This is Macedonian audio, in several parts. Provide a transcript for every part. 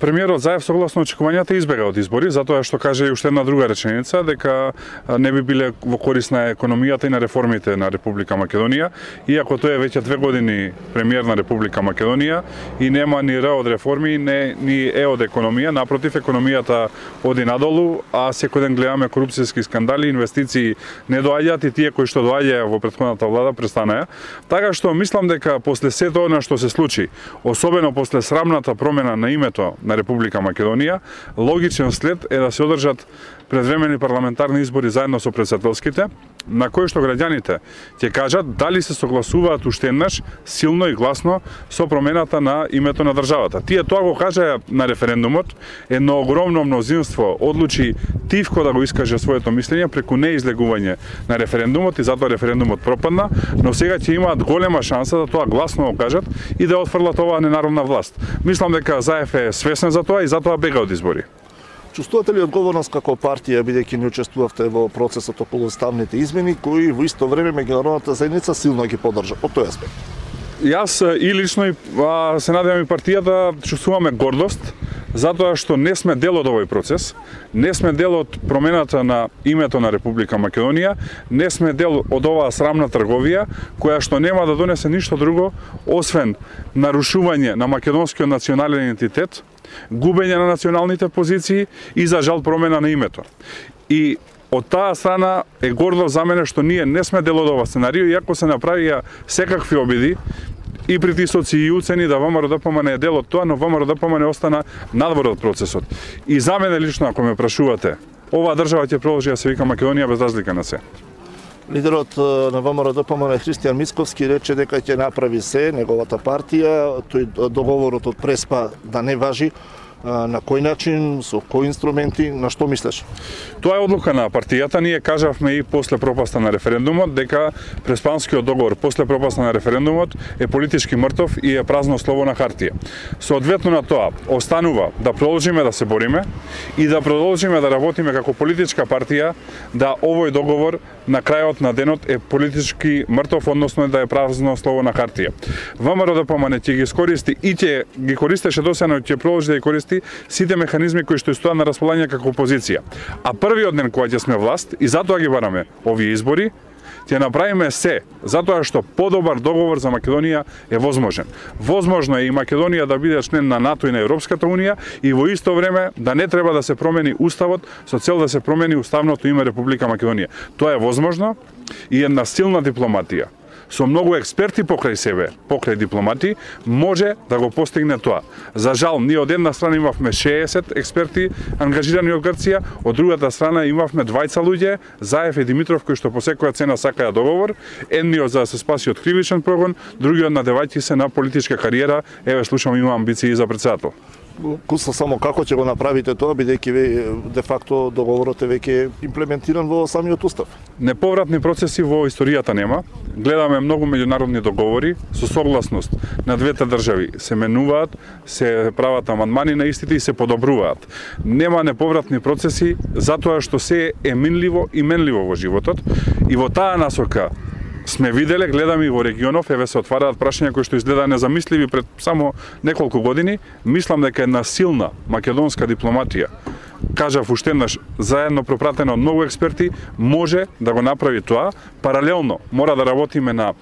Премиерот Заев согласно очекувањата избега од избори, затоа што каже и уште една друга реченица дека не би биле во корист на економијата и на реформите на Република Македонија, иако тој е веќе 2 години премиер на Република Македонија и нема ни Р од реформи, ни Е од економија, напротив економијата оди надолу, а секој ден гледаме корупцијски скандали, инвестиции не доаѓаат и тие кои што доаѓаја во претходната влада престанаа. Така што мислам дека после сето она што се случи, особено после срамната промена на името на Република Македонија, логичен след е да се одржат предвремени парламентарни избори заедно со претседателските, на кои што граѓаните ќе кажат дали се согласуваат уште еднаш силно и гласно со промената на името на државата. Тие тоа го кажаа на референдумот, едно огромно мнозинство одлучи тивко да го искаже своето мислење преку неизлегување на референдумот и затоа референдумот пропадна, но сега ќе имаат голема шанса да тоа гласно го кажат и да отфрлат оваа ненародна власт. Мислам дека Заев е свесен за тоа и затоа бега од избори. Чувствувате ли одговорност како партија, бидејќи не учествувавте во процесот околу уставните измени, кои во исто време меѓународната заедница силно ги поддржа од тој аспект? Јас и лично се надевам и партијата чувствуваме гордост затоа што не сме дел од овој процес, не сме дел од промената на името на Република Македонија, не сме дел од оваа срамна трговија која што нема да донесе ништо друго освен нарушување на македонскиот национален идентитет, губење на националните позиции и за жал промена на името. И од таа страна е гордо за мене што ние не сме дел од ова сценарио, иако се направија секакви обиди и притисоци и уцени да ВМРО-ДПМН е дел од тоа, но ВМРО-ДПМН остана надвор од процесот. И за мене лично, ако ме прашувате, оваа држава ќе продолжи да се вика Македонија без разлика на се. Лидерот на ВМРО-ДПМН Христијан Мицковски рече дека ќе направи се неговата партија, тој договорот од Преспа да не важи. На кој начин, со кои инструменти, на што мислеш? Тоа е одлука на партијата. Ние кажавме и после пропаста на референдумот дека Преспанскиот договор после пропаста на референдумот е политички мртов и е празно слово на хартија. Соодветно на тоа, останува да продолжиме да се бориме и да продолжиме да работиме како политичка партија да овој договор на крајот на денот е политички мртов, односно да е празно слово на хартија. ВМРО-ДПМН ќе ги искористи и ќе ги користеше досега, ќе продолжи да ги користи сите механизми кои што стојат на располагање како опозиција. А првиот ден кога ќе сме власт, и затоа ги бараме овие избори, ќе направиме се, затоа што подобар договор за Македонија е возможен. Возможно е и Македонија да биде член на НАТО и на Европската унија и во исто време да не треба да се промени уставот со цел да се промени уставното име Република Македонија. Тоа е возможно и една силна дипломатија со многу експерти покрај себе, покрај дипломати, може да го постигне тоа. За жал, ние од една страна имавме 60 експерти ангажирани од Грција, од другата страна имавме двајца луѓе, Заев и Димитров, кои што по секоја цена сакаја договор, едниот за да се спаси од кривичен прогон, другиот надевајќи се на политичка кариера, еве слушам има амбиции за претседател. Куса само како ќе го направите тоа, бидејќи де факто договорот е веќе имплементиран во самиот устав? Неповратни процеси во историјата нема. Гледаме многу меѓународни договори со согласност на двете држави се менуваат, се прават амандмани на истите и се подобруваат. Нема неповратни процеси затоа што се е минливо и менливо во животот и во таа насока сме виделе, гледаме и во регионов, еве се отвараат прашања кои што изгледа незамисливи пред само неколку години. Мислам дека една силна македонска дипломатија, кажав уште еднаш, заедно пропратена од многу експерти, може да го направи тоа. Паралелно мора да работиме на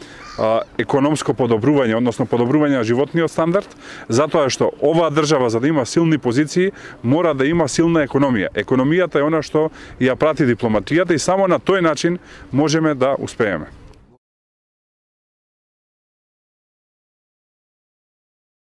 економско подобрување, односно подобрување на животниот стандард, затоа што оваа држава за да има силни позиции, мора да има силна економија. Економијата е она што ја прати дипломатијата и само на тој начин можеме да успееме.